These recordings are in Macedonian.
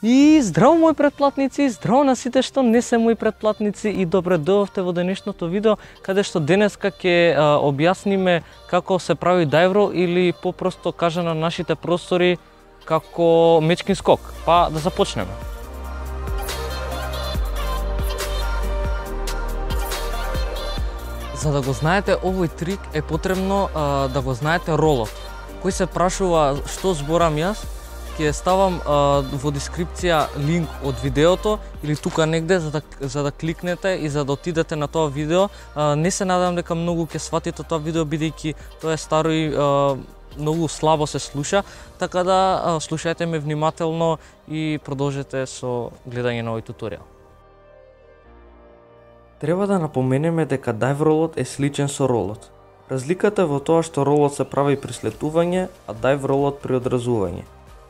И здраво мои претплатници, здраво на сите што не се мои претплатници и добре дојдовте во денешното видео каде што денеска ќе објасниме како се прави дайврол или попросто кажано на нашите простори како мечкин скок. Па да започнеме. За да го знаете овој трик е потребно да го знаете ролот. Кој се прашува што зборам јас, ќе ставам во дескрипција линк од видеото или тука негде за да кликнете и за да отидете на тоа видео. Не се надам дека многу ќе сватите тоа видео бидејќи тоа е старо и многу слабо се слуша, така да слушајте ме внимателно и продолжете со гледање на овој туторијал. Треба да напоменеме дека дайвролот е сличен со ролот. Разликата е во тоа што ролот се прави при слетување, а дайвролот при одразување.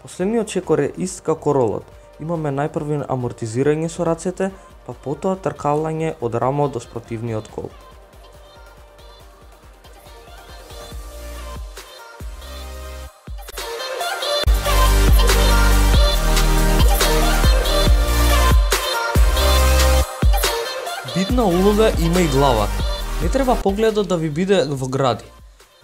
Последниот чекор е ист како ролот. Имаме најпрво амортизирање со рацете, па потоа тркалање од рамо до спротивниот кол. Битна улога има и главата. Не треба погледот да ви биде во гради,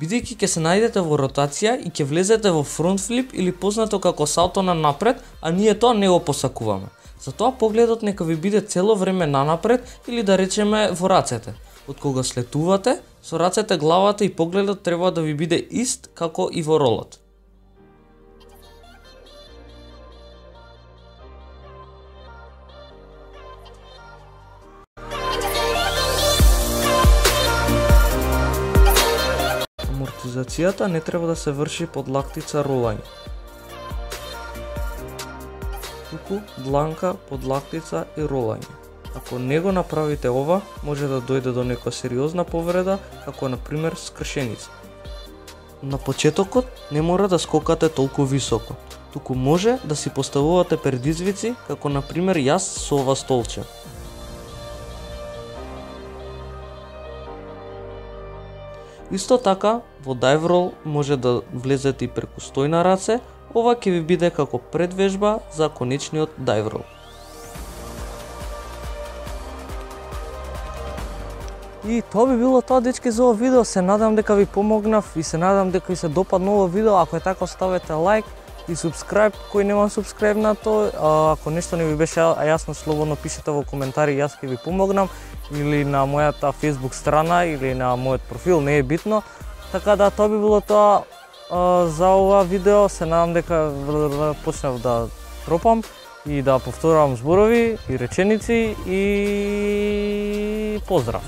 бидејќи ќе се најдете во ротација и ќе влезете во фронт флип или познато како салто на напред, а ние тоа не го посакуваме. Затоа погледот нека ви биде цело време нанапред или да речеме во рацете. Од кога слетувате, со рацете, главата и погледот треба да ви биде ист како и во ролот. Амортизацијата не треба да се врши под лактица ролање, туку дланка под лактица и ролање. Ако не го направите ова, може да дојде до некоја сериозна повреда, како на пример скршеница. На почетокот не мора да скокате толку високо, туку може да си поставувате предизвици, како на пример јас со ова столче. Исто така, во дайврол може да влезете и преку стојна раце, ова ќе ви биде како предвежба за конечниот дайврол. И тоа би било тоа, дечки, за ова видео. Се надам дека ви помогнав и се надам дека ви се допадна ова видео. Ако е така, оставете лайк и субскрайб кој нема субскрайбнато. Ако нешто не ви беше јасно, слободно пишете во коментари, јас ќе ви помогнам, или на мојата Facebook страна или на мојот профил, не е битно. Така да тоа би било тоа за ова видео. Се надам дека почнав да тропам и да повторувам зборови и реченици и поздрав.